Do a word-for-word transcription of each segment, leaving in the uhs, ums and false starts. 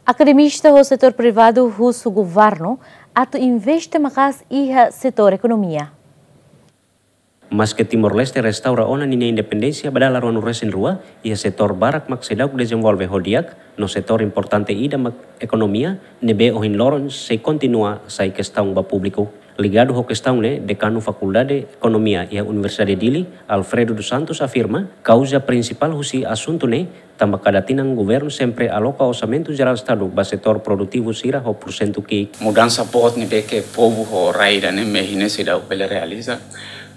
Akademista ho setór privadu husu governu atu investe maka'as iha setór ekonomia. Maske Timor-Leste restaura ona ninia independénsia ba dala ruanulu-resin-rua, iha setór barak mak seidauk dezenvolve ho di'ak, no setór importante ida mak ekonomia, ne'ebé ohin loron sei kontinua sai kestaun ba públiku. Ligadu ho kestaun ne'e, Dekanu Fakuldade Ekonomia iha Universidade Dili, Alfredo dos Santos, afirma, kauza prinsipál husi asuntu ne'e, tanba kada tinan governu sempre aloka orsamentu jerál Estadu ba setór produtivu sira ho pursentu ki'ik. Mudansa boot ne'ebé ke povu ho rai ida-ne'e mehi ne'e seidauk bele realiza,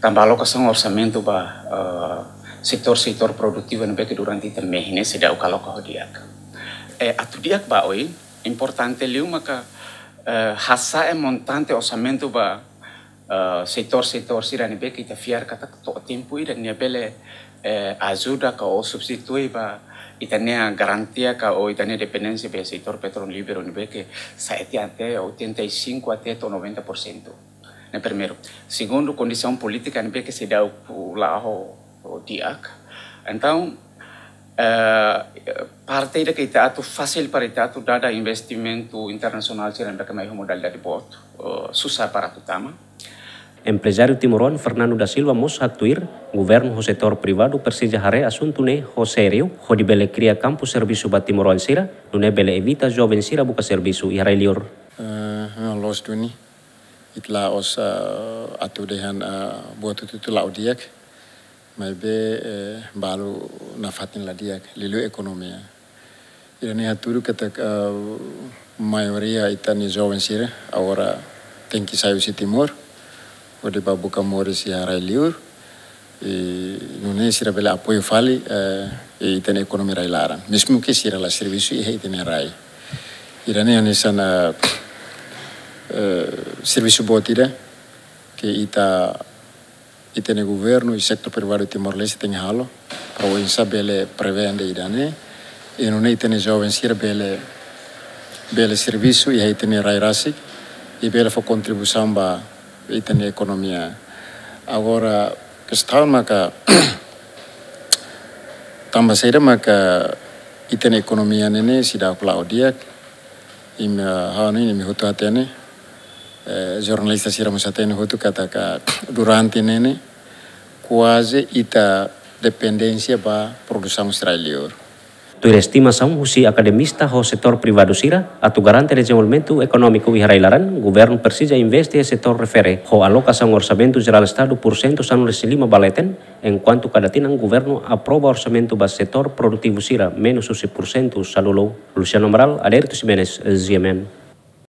tanba alokasaun orsamentu ba, eh, setór-setór produtivu ne'ebé ke durante ita mehi ne'e seidauk aloka ho di'ak. Eh, atu di'ak ba oin, importante liu maka, eh, hasa'e montante orsamentu ba, eh, setór-setór sira ne'ebé ke ita fiar katak to'o tempu ida nia bele, eh, ajuda ka ou substitui ba ita-nia garantia ka ou ita-nia dependénsia ba setór petrolíferu ne'ebé ke sa'e tiha até oitenta e cinco até to'o noventa por cento. Ne'e primeiru. Segundu, kondisaun polítika ne'ebé ke seidauk la'o di'ak. Entaun, eh, parte ida ke ita atu fasil para ita atu dada investimentu internasionál sira ne'ebé ke mai ho modalidade boot, eh, susar para atu tama. Emprezáriu timoroan Fernando da Silva mós haktuir, governu ho setór privadu presiza haree asuntu ne'e ho sériu, hodi bele kria kampu servisu ba timoroan sira, nune'e bele evita joven sira buka servisu iha rai liur. Eh, loos duni, ita la'ós, eh, atu dehan, eh, buat hotu-hotu la'o di'ak, maibé, eh, balu nafatin la di'ak, liuliu ekonomia. Ida-ne'e hatudu katak, eh, maioria ita-nia joven sira agora tenke sai husi Timor, hodi bá buka moris iha rai liur, i nune'e sira bele apoiu fali, eh, ita-nia ekonomia rai-laran. Mezmu ke sira la servisu iha ita-nia rai. Ida-ne'e hanesan, eh, eh, servisu boot ida ke ita, ita-nia governu i setór privadu Timor-Leste tenke halo, para oinsá bele prevene ida-ne'e. I nune'e ita-nia joven sira bele, bele servisu iha ita-nia rai rasik, i bele fó kontribuisaun ba ita-nia ekonomia. Agora, kestaun maka, tanba saida maka ita-nia ekonomia ne'e ne'e seidauk la'o di'ak, imi, ha'u hanoin imi hotu hatene, eh, jornalista sira mós hatene hotu katak durante ne'e ne'e, kuaze ita dependénsia ba produsaun rai liur. Tuir estimasaun husi akademista ho setór privadu sira, atu garante dezenvolvimentu ekonómiku iha rai-laran, governu presiza investe iha setór refere, ho alokasaun orsamentu jerál Estadu pursentu sanulu-resin-lima ba leten, enkuantu kada tinan governu aprova orsamentu ba setór produtivu sira menus husi pursentu sanulu. Luciano Amaral, Adérito Ximenes, G M N.